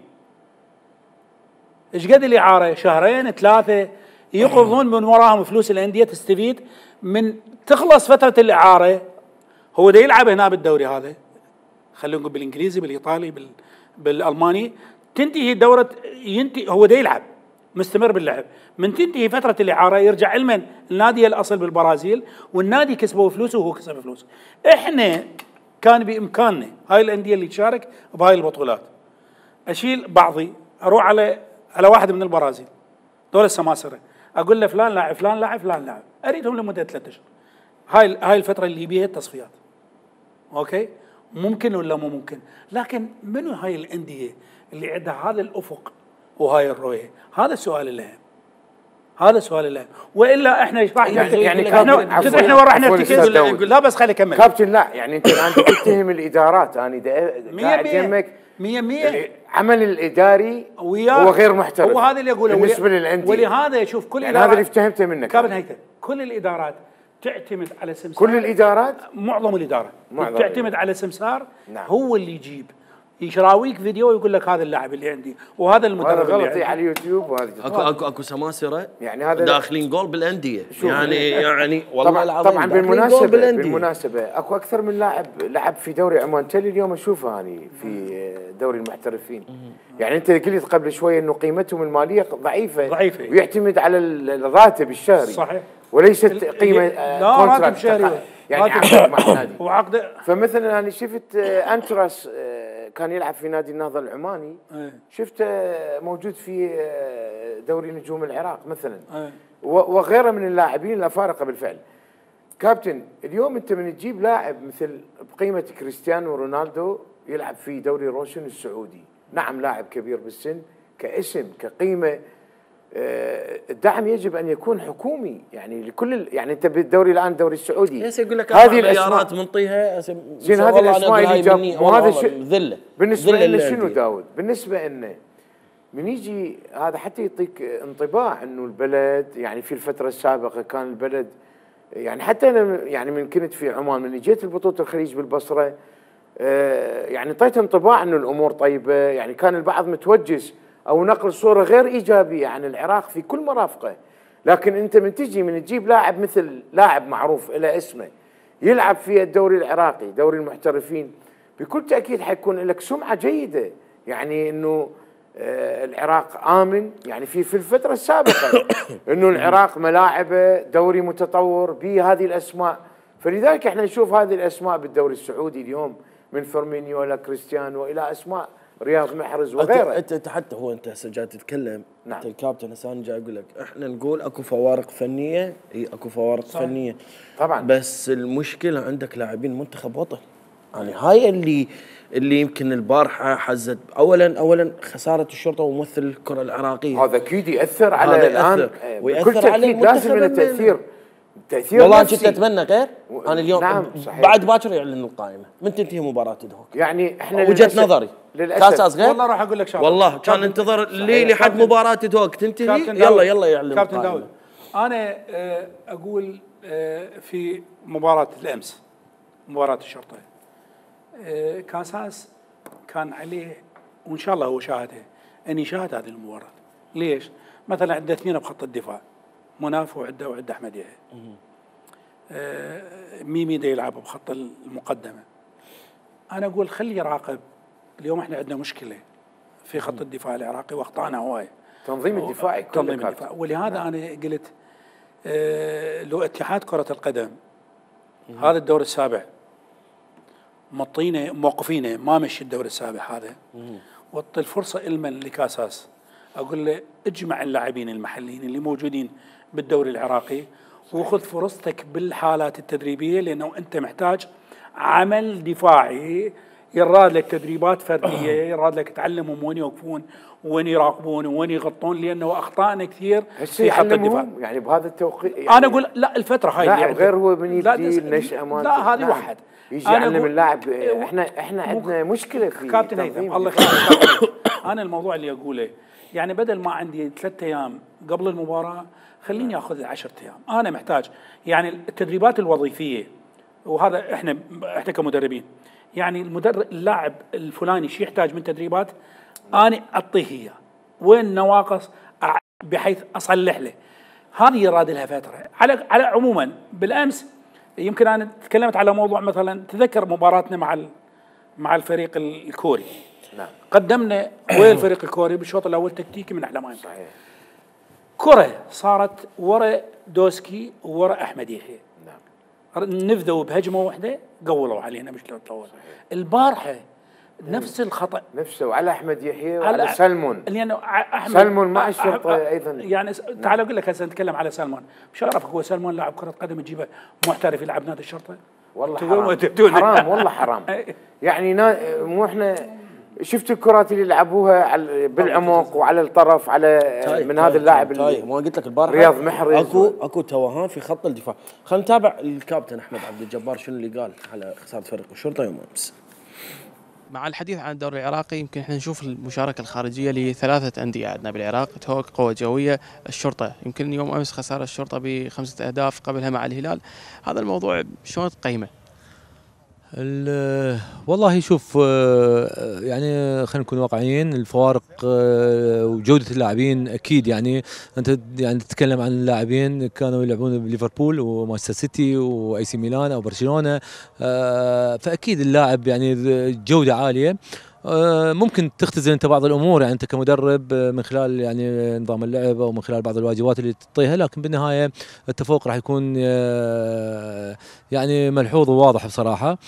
ايش قد الاعاره؟ شهرين ثلاثه، يقبضون من وراهم فلوس الانديه تستفيد من. تخلص فتره الاعاره هو دا يلعب هنا بالدوري هذا، خلينا نقول بالانجليزي بالايطالي بال بالالماني، تنتهي دوره ينتهي هو دا يلعب مستمر باللعب. من تنتهي فتره الاعاره يرجع علما النادي الاصل بالبرازيل، والنادي كسبوا فلوسه وهو كسب فلوس. احنا كان بامكاننا هاي الانديه اللي تشارك بهاي البطولات اشيل بعضي اروح على على واحد من البرازيل دول السماسره، اقول له فلان لاعب فلان لاعب فلان لاعب، اريدهم لمده ثلاثة اشهر. هاي هاي الفتره اللي بيها التصفيات. اوكي؟ ممكن ولا مو ممكن؟ لكن منو هاي الانديه اللي عندها هذا الافق وهاي الرؤيه؟ هذا السؤال الأهم. هذا السؤال الأهم، والا احنا ايش راح يعني يعني احنا تدري احنا وين راح نرتكز؟ لا بس خلي اكمل. كابتن لا يعني انت الان تتهم الادارات. انا قاعد يمك مية مية عمل الاداري وياه هو غير محترف. هو هذا اللي اقوله بالنسبه للانديه. ولهذا شوف كل يعني هذا اللي فهمته منك كابتن هيثم، كل الادارات تعتمد على سمسار. كل الادارات معظم الاداره معظم تعتمد الإدارة. على سمسار. نعم. هو اللي يجيب يشراويك فيديو ويقول لك هذا اللاعب اللي عندي وهذا المدرب اللي غلط عندي. على اليوتيوب وهذه اكو اكو اكو سماسره يعني هذا داخلين جول بالانديه. يعني يعني والله طبعا العظيم طبعا داخلين بالمناسبه جول بالأندية. بالمناسبه اكو اكثر من لاعب لعب في دوري عمان. تالي اليوم اشوفه اني في دوري المحترفين. يعني انت قلت قبل شويه انه قيمتهم الماليه ضعيفه ضعيفه ويعتمد على الراتب الشهري صحيح، وليست قيمه لا راتب شهري يعني عقد مع النادي. وعقد. فمثلا انا شفت انتراس كان يلعب في نادي النهضه العماني، شفته موجود في دوري نجوم العراق مثلا وغيره من اللاعبين الافارقه بالفعل. كابتن اليوم انت من تجيب لاعب مثل بقيمه كريستيانو رونالدو يلعب في دوري روشن السعودي، نعم لاعب كبير بالسن، كاسم كقيمه الدعم يجب ان يكون حكومي يعني لكل يعني انت بالدوري الان الدوري السعودي يقول لك هذه الاسماء منطيها زين هذه الاسماء اللي جاب وهذا ذله. بالنسبه لنا شنو داود؟ بالنسبه لنا من يجي هذا حتى يعطيك انطباع انه البلد يعني في الفتره السابقه كان البلد يعني حتى انا يعني من كنت في عمان من جيت البطوله الخليج بالبصره يعني اعطيت انطباع انه الامور طيبه. يعني كان البعض متوجس او نقل صوره غير ايجابيه عن العراق في كل مرافقه. لكن انت من تجي من تجيب لاعب مثل لاعب معروف له اسمه يلعب في الدوري العراقي دوري المحترفين، بكل تاكيد حيكون لك سمعه جيده. يعني انه آه العراق امن يعني في في الفتره السابقه انه العراق ملاعبه دوري متطور بهذه الاسماء. فلذلك احنا نشوف هذه الاسماء بالدوري السعودي اليوم من فيرمينيو الى كريستيانو الى اسماء رياض محرز وغيره. انت حتى هو انت هسه جاي تتكلم. نعم. انت الكابتن هسه انا جاي اقول لك احنا نقول اكو فوارق فنيه، اي اكو فوارق صحيح. فنيه طبعا، بس المشكله عندك لاعبين منتخب وطن. يعني هاي اللي اللي يمكن البارحه حزت. اولا اولا خساره الشرطه وممثل الكره العراقيه هذا اكيد ياثر على الان وياثر على لازم له تاثير تاثير والله كنت اتمنى غير. انا اليوم نعم صحيح. بعد باكر يعلن القائمه من تنتهي مباراه الهوك. يعني احنا وجهه نظري كاس اصغر والله راح اقول لك شغله والله كان انتظر لي لحد مباراه الهوك تنتهي يلا يلا يعلن كابتن القائمه. داود انا اقول في مباراه الامس مباراه الشرطه كاساس كان عليه وان شاء الله هو شاهدها ان يشاهد هذه المباراه. ليش؟ مثلا عنده اثنين بخط الدفاع مناف وعنده وعنده احمد يحيى. آه ميمي دا يلعب بخط المقدمه. انا اقول خلي يراقب. اليوم احنا عندنا مشكله في خط الدفاع العراقي واخطانا هوايه. تنظيم الدفاعي كله تنظيم الدفاع، ولهذا نعم. انا قلت آه لو اتحاد كره القدم مم. هذا الدور السابع مطينه موقفينه ما مشي الدور السابع هذا، وطي الفرصه المن لكاساس، اقول له اجمع اللاعبين المحليين اللي موجودين بالدوري العراقي وخذ فرصتك بالحالات التدريبيه، لانه انت محتاج عمل دفاعي، يراد لك تدريبات فرديه، يراد لك تعلمهم وين يوقفون وين يراقبون وين يغطون، لانه اخطائنا كثير في خط الدفاع. يعني بهذا التوقيت يعني انا اقول لا الفتره هاي لا يعني غير هو من يبدي النشأة مال لا هذه نعم. واحد يجي يعلم اللاعب. احنا احنا عندنا مشكله في كابتن هيثم الله يخليك. انا الموضوع اللي اقوله يعني بدل ما عندي ثلاثة ايام قبل المباراه خليني اخذ عشرة ايام. انا محتاج يعني التدريبات الوظيفيه، وهذا احنا احنا كمدربين يعني المدرب اللاعب الفلاني شو يحتاج من تدريبات انا اعطيه اياه، وين نواقص بحيث اصلح له. هذه يراد لها فتره. على على عموما بالامس يمكن انا تكلمت على موضوع مثلا، تذكر مباراتنا مع مع الفريق الكوري. نعم. قدمنا ويا الفريق الكوري بالشوط الاول تكتيكي من احلى ما يمكن. صحيح. كره صارت ورا دوسكي ورا احمد يحيى. نعم. نفذوا بهجمه واحده قولوا علينا مش لو طول. البارحه نفس الخطا نفسه وعلى احمد يحيى وعلى سلمون، لانه احمد سلمون مع الشرطه ايضا. يعني تعال اقول لك هسه نتكلم على سلمون، مش عارفك هو سلمون لاعب كره قدم تجيبه محترف يلعب نادي الشرطه؟ والله حرام حرام والله حرام. يعني مو احنا شفت الكرات اللي لعبوها على بالعمق وعلى الطرف على طيب من طيب هذا اللاعب طيب اللي ما قلت لك البارحه رياض محرز اكو اكو توهان في خط الدفاع. خلينا نتابع الكابتن احمد عبد الجبار شنو اللي قال على خساره فريق الشرطه يوم امس. مع الحديث عن الدوري العراقي يمكن احنا نشوف المشاركه الخارجيه لثلاثه انديه عندنا بالعراق، توك، قوه جويه، الشرطه. يمكن يوم امس خساره الشرطه بخمسه اهداف قبلها مع الهلال. هذا الموضوع شلون تقيمه؟ والله شوف يعني خلينا نكون واقعيين، الفوارق وجوده اللاعبين اكيد يعني انت يعني تتكلم عن اللاعبين كانوا يلعبون بليفربول ومانشستر سيتي واي سي ميلان او برشلونه، فاكيد اللاعب يعني جوده عاليه. ممكن تختزل انت بعض الامور يعني انت كمدرب من خلال يعني نظام اللعب او من خلال بعض الواجبات اللي تعطيها، لكن بالنهايه التفوق راح يكون يعني ملحوظ وواضح بصراحه.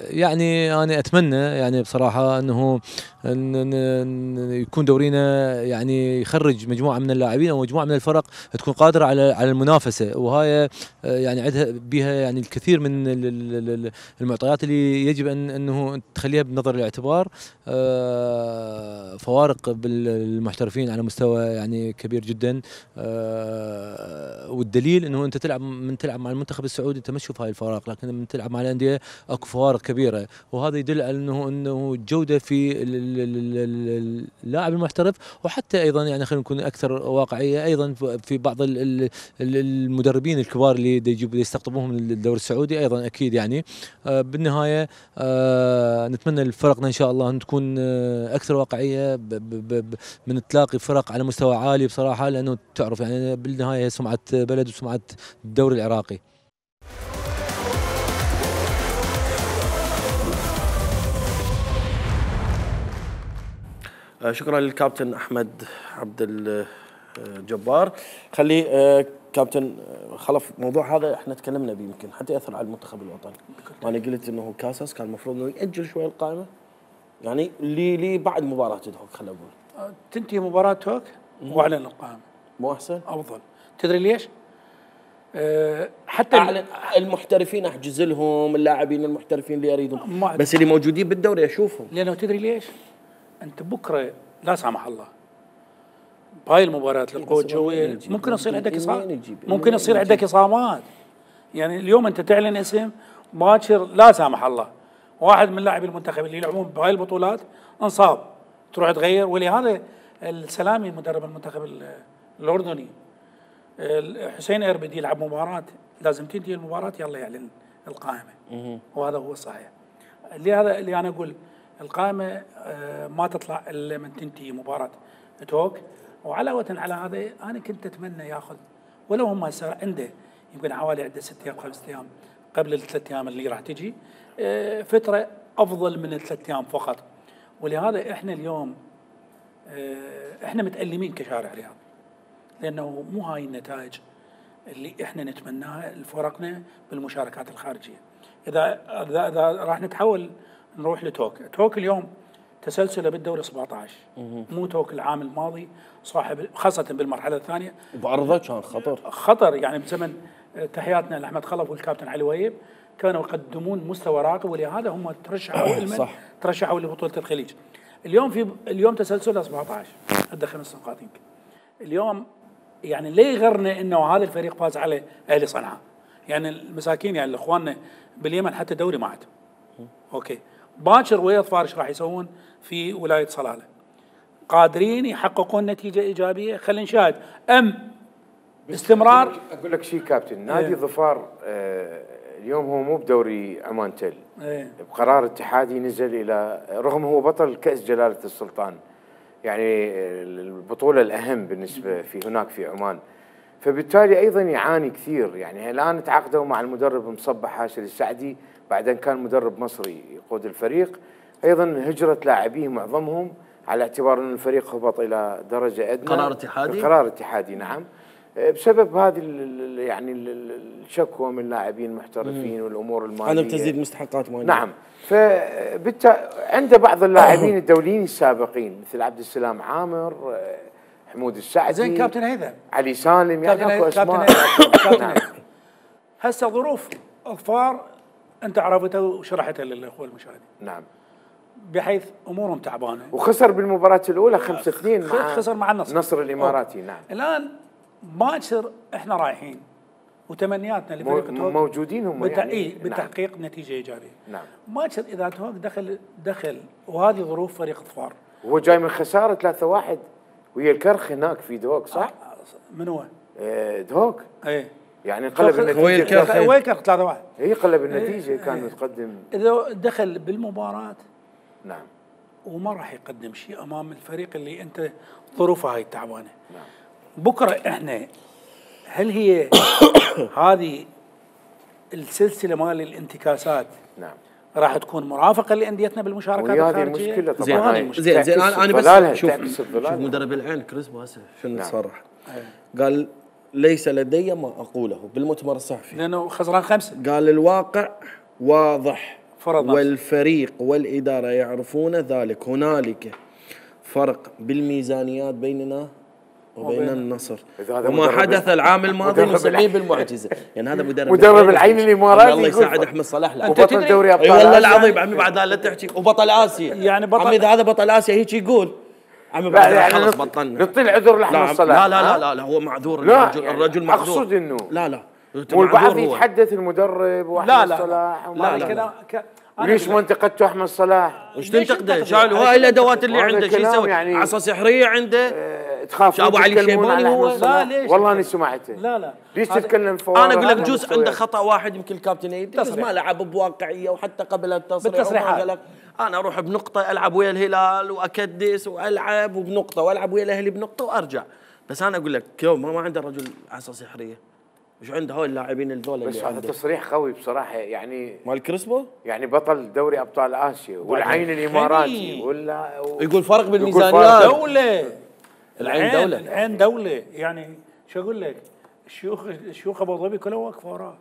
يعني انا اتمنى يعني بصراحه انه ان يكون دورينا يعني يخرج مجموعه من اللاعبين او مجموعه من الفرق تكون قادره على على المنافسه، وهاي يعني عندها بها يعني الكثير من المعطيات اللي يجب ان انه تخليها بنظر الاعتبار. فوارق بالمحترفين على مستوى يعني كبير جدا، والدليل انه انت تلعب من تلعب مع المنتخب السعودي انت ما تشوف هاي الفوارق، لكن من تلعب مع الانديه اكو فوارق كبيره، وهذا يدل على انه انه الجوده في اللاعب المحترف، وحتى ايضا يعني خلينا نكون اكثر واقعيه ايضا في بعض المدربين الكبار اللي يجيبوا يستقطبوهم من الدوري السعودي ايضا اكيد يعني. بالنهايه نتمنى لفرقنا ان شاء الله ان تكون اكثر واقعيه من تلاقي فرق على مستوى عالي بصراحه، لانه تعرف يعني بالنهايه سمعه بلد وسمعه الدوري العراقي. شكرا للكابتن احمد عبد الجبار. خلي كابتن خلف موضوع هذا احنا تكلمنا به يمكن حتى ياثر على المنتخب الوطني. وانا قلت انه كاساس كان المفروض انه ياجل شوي القائمه يعني لي لي بعد مباراه توك، خلينا نقول تنتهي مباراه توك واعلن القائمه مو احسن؟ افضل. تدري ليش؟ أه حتى أعلن المحترفين احجز لهم اللاعبين المحترفين اللي اريدهم، بس اللي موجودين بالدوري اشوفهم. لانه تدري ليش؟ انت بكره لا سامح الله بهاي المباريات للقوة الجوية ممكن يصير عندك إصابات، ممكن يصير عندك إصابات. يعني اليوم أنت تعلن اسم باكر لا سامح الله واحد من لاعبي المنتخب اللي يلعبون بهاي البطولات انصاب، تروح تغير. ولهذا السلامي مدرب المنتخب الأردني حسين إربد يلعب مباراة لازم تنتهي المباراة يلا يعلن القائمة، وهذا هو الصحيح. لهذا اللي أنا أقول القائمة ما تطلع إلا من تنتهي مباراة توك. وعلاوة على هذا أنا كنت أتمنى ياخذ ولو هم هسه عنده يمكن حوالي عنده ست أيام خمس أيام قبل الثلاث أيام اللي راح تجي فترة أفضل من الثلاث أيام فقط. ولهذا احنا اليوم اه احنا متألمين كشارع رياضي، لانه مو هاي النتائج اللي احنا نتمناها لفرقنا بالمشاركات الخارجيه. اذا اذا, إذا راح نتحول نروح لتوك، توك اليوم تسلسله بالدوري سبعة عشر، مو توك العام الماضي صاحب خاصه بالمرحله الثانيه. وبعرضه كان خطر خطر يعني بزمن تحياتنا لاحمد خلف والكابتن علي وهيب كانوا يقدمون مستوى راقي، ولهذا هم ترشحوا صح ترشحوا لبطوله الخليج. اليوم في اليوم تسلسله سبعة عشر ادى خمس نقاط يمكن. اليوم يعني ليه يغرنا انه هذا الفريق فاز على اهلي صنعاء؟ يعني المساكين يعني اخواننا باليمن حتى دوري ما عندهم. اوكي باكر ويا فارش راح يسوون في ولايه صلاله. قادرين يحققون نتيجه ايجابيه، خلينا نشاهد ام استمرار. اقول لك شيء كابتن، نادي ايه. ظفار آه اليوم هو مو بدوري عمان تل، ايه. بقرار اتحادي نزل الى، رغم هو بطل كاس جلاله السلطان، يعني البطوله الاهم بالنسبه في هناك في عمان، فبالتالي ايضا يعاني كثير. يعني الان تعاقدوا مع المدرب مصبح هاشم السعدي، بعدين كان مدرب مصري يقود الفريق، ايضا هجره لاعبيه معظمهم على اعتبار ان الفريق هبط الى درجه ادنى. قرار اتحادي؟ قرار اتحادي نعم، بسبب هذه يعني الشكوى من لاعبين محترفين والامور الماليه، عدم تسديد مستحقات ماليه. نعم، فبالتالي عنده بعض اللاعبين الدوليين السابقين مثل عبد السلام عامر، حمود السعدي، زين كابتن هيثم، علي سالم، يعني اكو اسماء. نعم. هسه ظروف ظفار انت عرفتها وشرحتها للاخوه المشاهدين. نعم. بحيث امورهم تعبانه. وخسر بالمباراه الاولى خمسة اثنين مع خسر مع النصر. النصر الاماراتي. أوه. نعم. الان باكر احنا رايحين وتمنياتنا لفريق توك موجودين هم بتا... يعني إيه بتحقيق نعم. نتيجه ايجابيه. نعم. باكر اذا توك دخل دخل وهذه ظروف فريق ظفار. وهو جاي من خساره ثلاثة واحد ويا الكرخ هناك في دوك صح؟ من هو؟ آه دوك. ايه يعني قلب النتيجه. ويا الكرخ ويا الكرخ ثلاثة واحد. اي قلب النتيجه. إيه كان إيه متقدم. اذا دخل بالمباراه نعم وما راح يقدم شيء امام الفريق اللي انت ظروفه هاي التعبانه. نعم. بكره احنا هل هي هذه السلسله مال الانتكاسات نعم راح تكون مرافقه لانديتنا بالمشاركات الخارجيه؟ المشكله طبعا. زين زين, زين انا انا بس شوف, شوف مدرب العين كريسبو هسه شنو نعم. صرح قال ليس لدي ما اقوله بالمؤتمر الصحفي لانه خسران خمسه. قال الواقع واضح فرض والفريق والاداره يعرفون ذلك. هنالك فرق بالميزانيات بيننا وبين النصر، وما حدث العام الماضي نسميه بالمعجزه. يعني هذا مدرب مدرب العين الاماراتي الله يساعد احمد صلاح. لا وبطل دوري ابطال اي والله العظيم عمي بعد لا تحكي وبطل اسيا. يعني بطل عمي اذا هذا بطل اسيا هيك يقول عمي بعد يعني خلص بطلنا. نعطي العذر لاحمد صلاح. لا لا لا لا, لا هو معذور. الرجل يعني الرجل معذور. اقصد انه لا لا والبعض يتحدث المدرب واحمد صلاح. لا لا لا ليش ما انتقدتوا احمد صلاح؟ وش تنتقده؟ شالوا هاي الادوات اللي عنده شو يسوي؟ يعني عصا سحريه عنده. اه تخاف ابو علي الشيباني هو. لا ليش؟ والله اني سمعته. لا لا ليش تتكلم فوارق؟ انا اقول لك جزء عنده خطا واحد يمكن الكابتن يدرس ما لعب بواقعيه وحتى قبل التصريح بالتصريحات. انا اروح بنقطه العب ويا الهلال واكدس والعب وبنقطه والعب ويا الاهلي بنقطه وارجع. بس انا اقول لك يوم ما, ما عنده رجل عصا سحريه. وش عنده هاي اللاعبين الذول بس هذا تصريح قوي بصراحه يعني مال كريسبو يعني بطل دوري ابطال اسيا والعين الاماراتي ولا و... يقول فرق بالميزانيات. دوله العين دوله العين دوله يعني شو اقول لك الشيوخ الشيوخ ابو ظبي كلهم واقفه وراه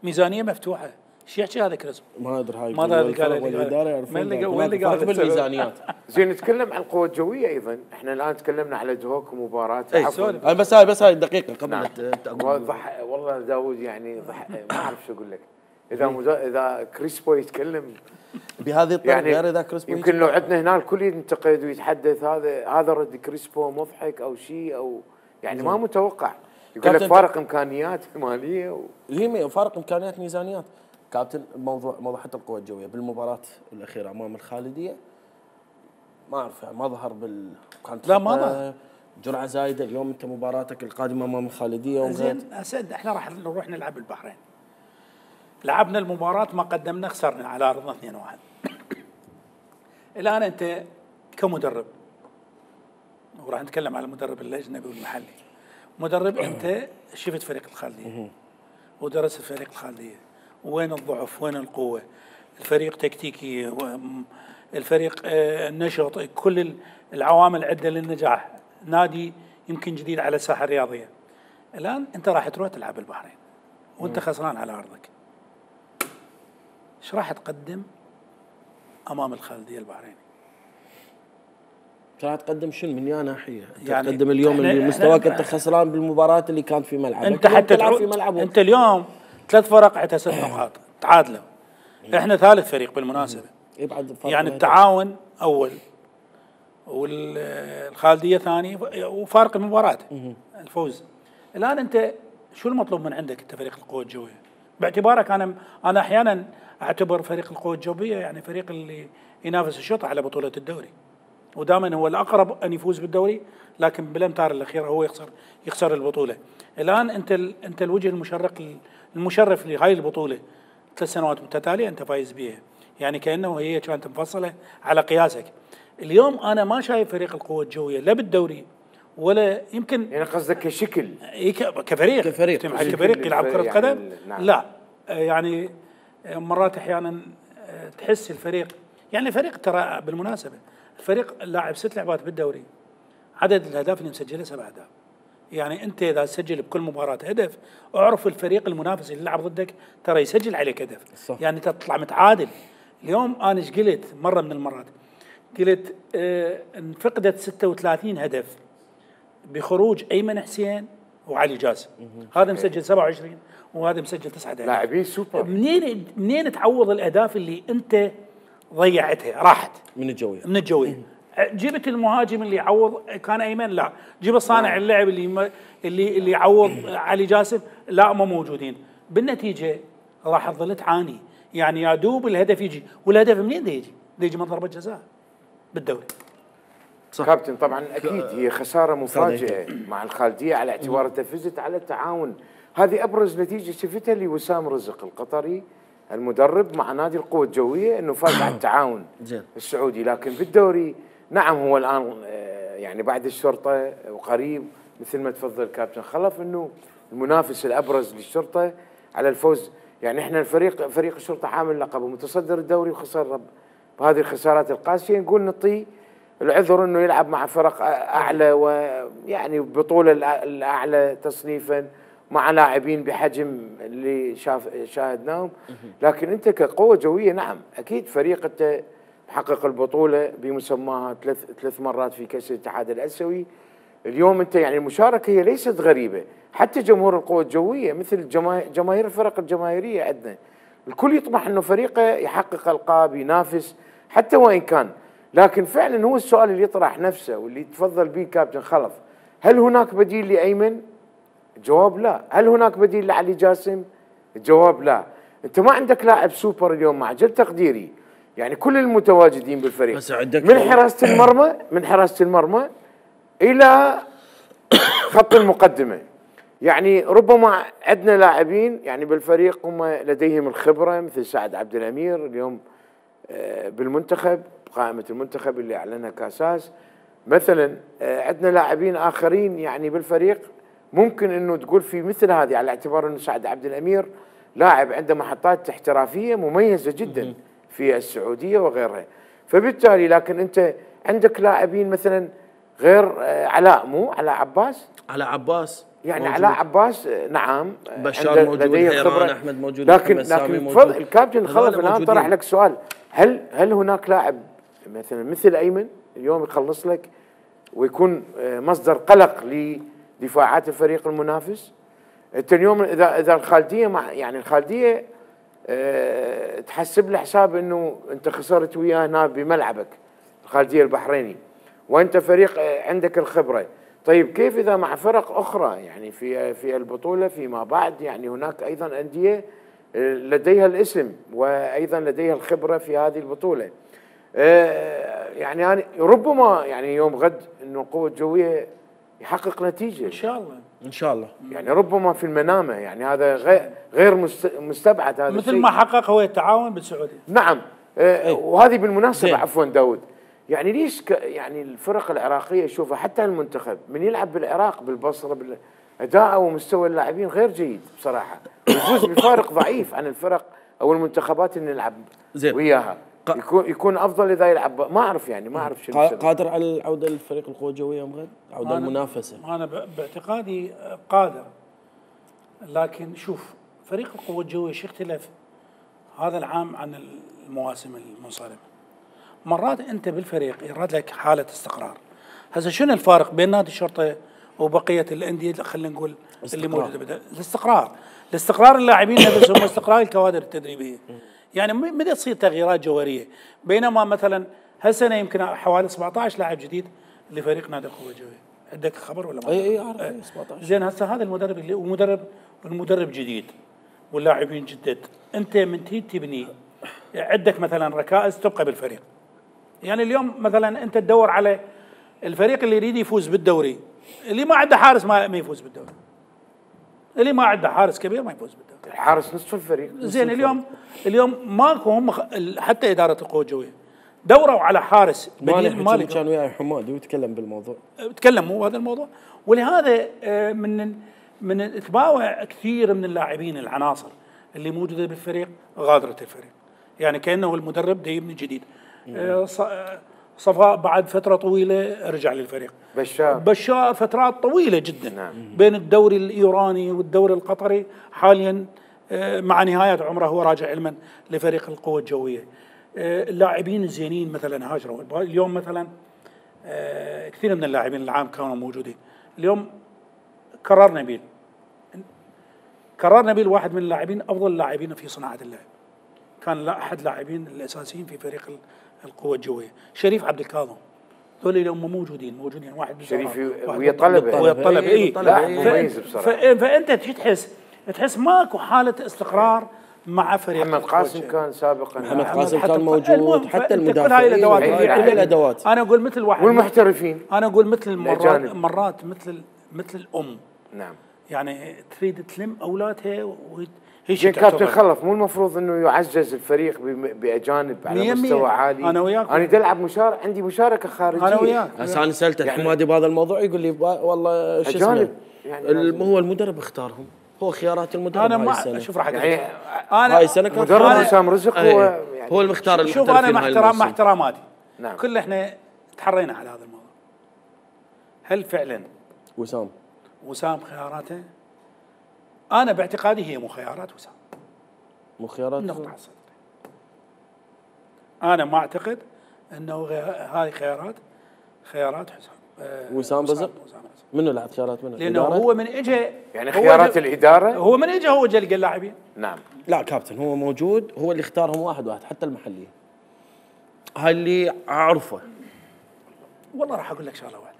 ميزانيه مفتوحه. شو يحكي هذا كريسبو؟ ما ادري هاي ما ادري والاداره يعرفون وين اللي قال بالميزانيات. زين نتكلم عن القوه الجويه ايضا. احنا الان تكلمنا على دوك ومباراه اي بس هاي بس هاي دقيقه قبل نعم. ضح والله داوود يعني ضح ما اعرف شو اقول لك. اذا مزا... اذا كريسبو يتكلم بهذه الطريقه يعني غير اذا كريسبو يمكن لو عندنا هنا الكل ينتقد ويتحدث هذا هذا رد كريسبو مضحك او شيء او يعني ما متوقع. يقول لك فارق امكانيات ماليه و... هي فارق امكانيات ميزانيات. كابتن موضوع موضوع حتى القوى الجويه بالمباراه الاخيره امام الخالديه ما اعرف يعني ما ظهر بال كانت لا ما ظهر جرعه زايده. اليوم انت مباراتك القادمه امام الخالديه زين اسد احنا راح نروح نلعب البحرين. لعبنا المباراه ما قدمنا خسرنا على ارضنا اثنين واحد. الان انت كمدرب وراح نتكلم على المدرب الاجنبي والمحلي. مدرب انت شفت فريق الخالديه ودرست فريق الخالديه وين الضعف وين القوه. الفريق تكتيكي الفريق النشط، كل العوامل عده للنجاح. نادي يمكن جديد على الساحه الرياضيه. الان انت راح تروح تلعب بالبحرين وانت خسران على ارضك. ايش راح تقدم امام الخالديه البحريني؟ راح تقدم شنو من يا ناحيه؟ انت يعني تقدم اليوم اللي مستواك انت خسران بالمباراه اللي كانت في ملعبك، انت حتى تلعب في ملعبك. انت اليوم ثلاث فرق عندها ست نقاط تعادلوا. احنا ثالث فريق بالمناسبه. يعني التعاون اول والخالديه ثاني وفارق المباراه الفوز. الان انت شو المطلوب من عندك انت فريق القوه الجويه؟ باعتبارك انا انا احيانا اعتبر فريق القوه الجويه يعني فريق اللي ينافس الشرطه على بطوله الدوري، ودائما هو الاقرب ان يفوز بالدوري، لكن بالامتار الاخيره هو يخسر يخسر البطوله. الان انت انت الوجه المشرق المشرف لهاي البطوله ثلاث سنوات متتاليه انت فايز بيها، يعني كانه هي كانت مفصله على قياسك. اليوم انا ما شايف فريق القوه الجويه لا بالدوري ولا يمكن، يعني قصدك كشكل كفريق كفريق كفريق يلعب كره يعني قدم؟ نعم. لا يعني مرات احيانا تحس الفريق، يعني الفريق ترى بالمناسبه الفريق لاعب ست لعبات بالدوري، عدد الاهداف اللي مسجلها سبع اهداف. يعني انت اذا تسجل بكل مباراه هدف، اعرف الفريق المنافس اللي يلعب ضدك ترى يسجل عليك هدف، صح. يعني تطلع متعادل. اليوم انا ايش قلت مره من المرات؟ قلت اه انفقدت ستة وثلاثين هدف بخروج ايمن حسين وعلي جاسم، هذا مسجل سبعة وعشرين وهذا مسجل تسعة اهداف. لاعبين سوبر. منين منين تعوض الاهداف اللي انت ضيعتها راحت من الجويه من الجويه؟ جبت المهاجم اللي يعوض كان ايمن؟ لا. جيب الصانع اللعب اللي اللي اللي يعوض علي جاسم؟ لا، ما موجودين. بالنتيجه راح تظل تعاني، يعني يا دوب الهدف يجي، والهدف منين ده يجي؟ ده يجي من ضربه جزاء بالدوري. صح. كابتن طبعا اكيد هي خساره مفاجئه مع الخالديه على اعتبار انت فزت على التعاون. هذه ابرز نتيجه شفتها لوسام رزق القطري المدرب مع نادي القوه الجويه، انه فاز على التعاون السعودي. لكن بالدوري نعم هو الان يعني بعد الشرطه وقريب مثل ما تفضل كابتن خلف انه المنافس الابرز للشرطه على الفوز. يعني احنا الفريق فريق الشرطه حامل لقب ومتصدر الدوري وخسر بهذه الخسارات القاسيه، نقول نعطيه العذر انه يلعب مع فرق اعلى ويعني بطوله الاعلى تصنيفا مع لاعبين بحجم اللي شاف شاهدناهم. لكن انت كقوه جويه نعم اكيد فريق انت محقق البطوله بمسماها ثلاث ثلاث مرات في كاس الاتحاد الاسيوي. اليوم انت يعني المشاركه هي ليست غريبه، حتى جمهور القوى الجويه مثل جماهير الفرق الجماهيريه عندنا الكل يطمح انه فريقه يحقق القاب ينافس حتى وان كان. لكن فعلا هو السؤال اللي يطرح نفسه واللي تفضل به كابتن خلف، هل هناك بديل لايمن؟ الجواب لا. هل هناك بديل لعلي جاسم؟ الجواب لا. انت ما عندك لاعب سوبر اليوم مع جل تقديري، يعني كل المتواجدين بالفريق من حراسه المرمى من حراسه المرمى الى خط المقدمه، يعني ربما عندنا لاعبين يعني بالفريق هم لديهم الخبره مثل سعد عبد الامير اليوم بالمنتخب قائمه المنتخب اللي اعلنها كاساس مثلا. عندنا لاعبين اخرين يعني بالفريق ممكن انه تقول في مثل هذه، على اعتبار انه سعد عبد الامير لاعب عنده محطات احترافيه مميزه جدا في السعوديه وغيرها. فبالتالي لكن انت عندك لاعبين مثلا غير علاء، مو علاء عباس علاء عباس يعني موجود. علاء عباس نعم بشار موجود، حيران احمد موجود، لكن لكن موجود. الكابتن خلف الان طرح لك سؤال، هل هل هناك لاعب مثلا مثل ايمن اليوم يخلص لك ويكون مصدر قلق لدفاعات الفريق المنافس؟ انت اليوم اذا اذا الخالديه مع يعني الخالديه أه تحسب له حساب انه انت خسرت وياه هنا بملعبك الخالديه البحريني وانت فريق عندك الخبره. طيب كيف اذا مع فرق اخرى يعني في في البطوله فيما بعد؟ يعني هناك ايضا انديه لديها الاسم وايضا لديها الخبره في هذه البطوله. أه يعني يعني ربما يعني يوم غد انه القوه الجويه يحقق نتيجه ان شاء الله ان شاء الله، يعني ربما في المنامه، يعني هذا غير غير مستبعد هذا مثل ما حقق هو التعاون بالسعوديه. نعم أه وهذه بالمناسبه عفوا داود، يعني ليش يعني الفرق العراقيه شوفها حتى المنتخب من يلعب بالعراق بالبصره اداء ومستوى اللاعبين غير جيد بصراحه، يفوز بفارق ضعيف عن الفرق او المنتخبات اللي نلعب وياها. يكون يكون افضل اذا يلعب، ما اعرف يعني ما اعرف شو السبب. قادر على العوده للفريق القوى الجويه يوم غد؟ عوده المنافسه. انا باعتقادي قادر، لكن شوف فريق القوى الجويه شو اختلف هذا العام عن المواسم المنصرمه. مرات انت بالفريق يراد لك حاله استقرار. هسه شنو الفارق بين نادي الشرطه وبقيه الانديه خلينا نقول اللي موجوده بدأ. الاستقرار الاستقرار اللاعبين نفسهم واستقرار الكوادر التدريبيه. يعني متى تصير تغييرات جوهريه، بينما مثلا هالسنه يمكن حوالي سبعة عشر لاعب جديد لفريق نادي القوى الجويه. عندك خبر ولا ما؟ اي اي اعرف. اي سبعة عشر. زين هسه هذا المدرب اللي ومدرب المدرب جديد واللاعبين جدد، انت من تيجي تبني عندك مثلا ركائز تبقى بالفريق. يعني اليوم مثلا انت تدور على الفريق اللي يريد يفوز بالدوري، اللي ما عنده حارس ما ما يفوز بالدوري. اللي ما عنده حارس كبير ما يفوز بالدوري. الحارس نصف الفريق. زين اليوم اليوم ماكو هم حتى اداره القوى الجويه دوروا على حارس بديل. مالك كان وياي حمادي ويتكلم بالموضوع. تكلم مو هذا الموضوع، ولهذا من من تباوع كثير من اللاعبين العناصر اللي موجوده بالفريق غادرت الفريق. يعني كانه المدرب دا يبني جديد. صفاء بعد فتره طويله رجع للفريق. بشار بشار فترات طويله جدا. نعم. بين الدوري الايراني والدوري القطري، حاليا مع نهايه عمره هو راجع علما لفريق القوى الجويه. اللاعبين الزينين مثلا هاجروا. اليوم مثلا كثير من اللاعبين العام كانوا موجودين. اليوم كرر نبيل كرر نبيل واحد من اللاعبين افضل اللاعبين في صناعه اللعب. كان احد اللاعبين الاساسيين في فريق القوى الجويه. شريف عبد الكاظم، ذول اللي هم موجودين موجودين واحد شريف ويا طلبه ويا طلبه اي مميز بصراحه. فانت شو تحس؟ تحس ماكو حاله استقرار مع فريق. محمد قاسم كان سابقا. محمد قاسم كان موجود، حتى المدافعين كل هاي الادوات كل الادوات. انا اقول مثل واحد والمحترفين. انا اقول مثل مرات مرات مثل مثل الام. نعم. يعني تريد تلم اولادها وهي زين كابتن خلف، مو المفروض انه يعزز الفريق باجانب على مستوى عالي؟ انا وياك. انا العب مشاركه، عندي مشاركه خارجيه. انا وياك. هسه انا سالت الحمادي بهذا الموضوع يقول لي والله شو اسمه يعني هو المدرب اختارهم، هو خيارات المدرب. انا ما شوف راح يعني انا هاي السنه كان مدرب حسام رزق هو يعني هو المختار. شوف انا مع احترام مع احتراماتي. نعم. كل احنا تحرينا على هذا الموضوع. هل فعلا وسام وسام خياراته؟ انا باعتقادي هي مو خيارات وسام، مو خيارات نقطة. انا ما اعتقد انه هذه خيارات خيارات حسام أه وسام رزق. منو لعب خيارات منو؟ لانه هو من اجى يعني خيارات الاداره. هو من اجى هو جلق اللاعبين. نعم. لا كابتن هو موجود، هو اللي اختارهم واحد واحد حتى المحليين. هاي اللي اعرفه. والله راح اقول لك شغله واحده.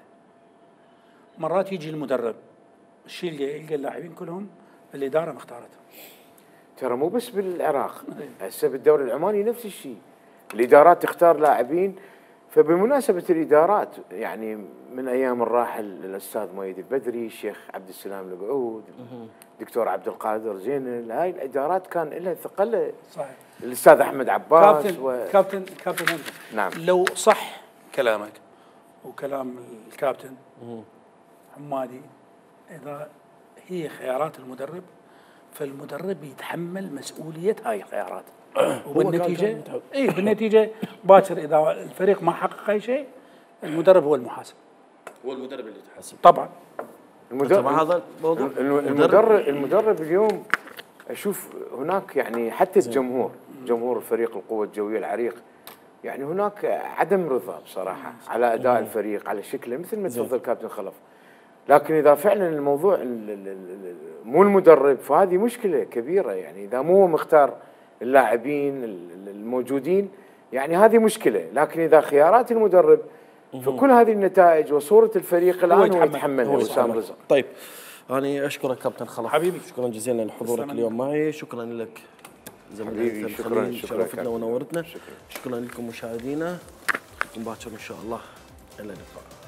مرات يجي المدرب الشيء اللي يلقى اللاعبين كلهم الاداره مختارتهم. ترى مو بس بالعراق، هسه بالدوري العماني نفس الشيء. الادارات تختار لاعبين. فبمناسبه الادارات يعني من ايام الراحل الاستاذ مؤيد البدري، الشيخ عبد السلام القعود، دكتور عبد القادر زينل، هاي الادارات كان لها ثقل. صحيح. الاستاذ احمد عباس. كابتن و... كابتن كابتن انت. نعم. لو صح كلامك وكلام الكابتن حمادي، اذا هي خيارات المدرب فالمدرب يتحمل مسؤوليه هاي الخيارات. وبالنتيجه اي بالنتيجه باكر اذا الفريق ما حقق اي شيء المدرب هو المحاسب. هو المدرب اللي يتحاسب. طبعا. المدرب هذا الموضوع. المدرب المدرب اليوم اشوف هناك يعني حتى الجمهور، جمهور فريق القوى الجويه العريق، يعني هناك عدم رضا بصراحه على اداء الفريق، على شكله، مثل ما تفضل كابتن خلف. لكن اذا فعلا الموضوع مو المدرب فهذه مشكله كبيره. يعني اذا مو مختار اللاعبين الموجودين يعني هذه مشكله. لكن اذا خيارات المدرب فكل هذه النتائج وصوره الفريق الان هو يتحملها وسام رزق. طيب انا اشكرك كابتن خلف حبيبي. شكرا جزيلا لحضورك اليوم معي. شكرا لك حبيبي. شكرا شرفتنا ونورتنا. شكرا, شكرا لكم مشاهدينا. باكر ان شاء الله الى اللقاء.